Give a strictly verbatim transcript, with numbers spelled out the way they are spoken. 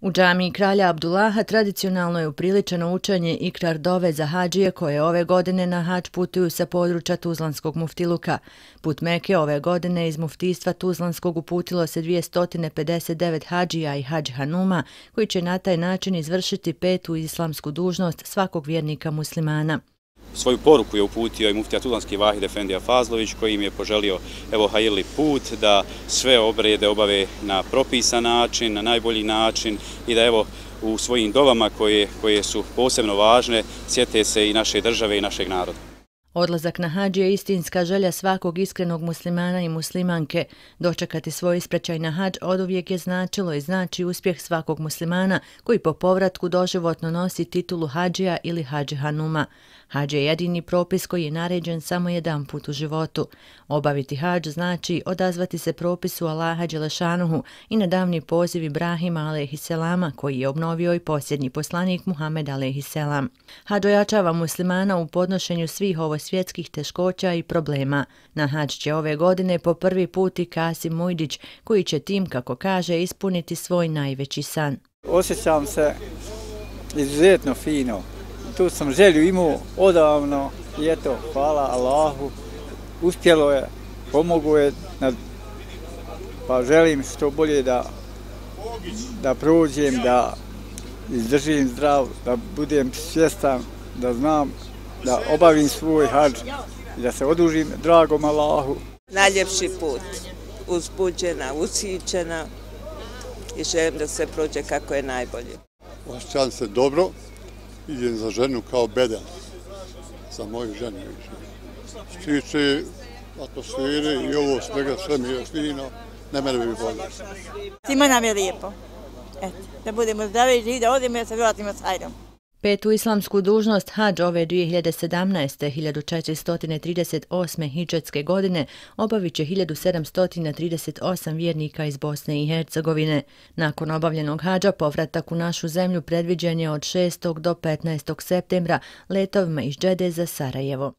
U džamiji kralja Abdullaha tradicionalno je upriličeno učenje ikrar dove za hadžije koje ove godine na hadž putuju sa područja Tuzlanskog muftiluka. Put Meke ove godine iz muftijstva Tuzlanskog uputilo se dvjesto pedeset devet hadžija i hadž hanuma koji će na taj način izvršiti petu islamsku dužnost svakog vjernika muslimana. Svoju poruku je uputio i muftija Tuzlanski Vahid Efendija Fazlović koji im je poželio evo hajirli put da sve obrede obave na propisan način, na najbolji način i da evo u svojim dovama koje, koje su posebno važne sjete se i naše države i našeg naroda. Odlazak na hadž je istinska želja svakog iskrenog muslimana i muslimanke. Dočekati svoj ispraćaj na hadž oduvijek je značilo i znači uspjeh svakog muslimana koji po povratku doživotno nosi titulu hadžija ili hadž hanuma. Hadž je jedini propis koji je naređen samo jedan put u životu. Obaviti hadž znači odazvati se propisu Allaha Đelešanuhu i na davni poziv Ibrahima alejhiselama koji je obnovio i posljednji poslanik Muhammed alejhiselam. Hadž ojačava muslimana u podnošenju svih svjetskih teškoća i problema. Na hadž će ove godine po prvi put i Kasim Mujdić, koji će tim, kako kaže, ispuniti svoj najveći san. Osjećam se izuzetno fino. Tu sam želju imao odavno i eto, hvala Allahu, uspjelo je, pomogu je, pa želim što bolje da, da prođem, da izdržim zdrav, da budem svjestan, da znam da obavim svoj hadž i da se odužim dragom Allahu. Najljepši put, uzbuđena, usićena i želim da se prođe kako je najbolje. Osjećam se dobro, idem za ženu kao bedel, za moju ženu. Što tiče atmosfere i ovo svega, sve mi je fino, ne mene bi bolje. Svima nam je lijepo, eto, da budemo zdravi i živi, da odemo i da se vratimo s hajrom. Petu islamsku dužnost hadž ove dvije hiljade sedamnaeste. hiljadu četiristo trideset osme. hidžetske godine obavit će hiljadu sedamsto trideset osam vjernika iz Bosne i Hercegovine. Nakon obavljenog hadža povratak u našu zemlju predviđen je od šestog do petnaestog septembra letovima iz Džede za Sarajevo.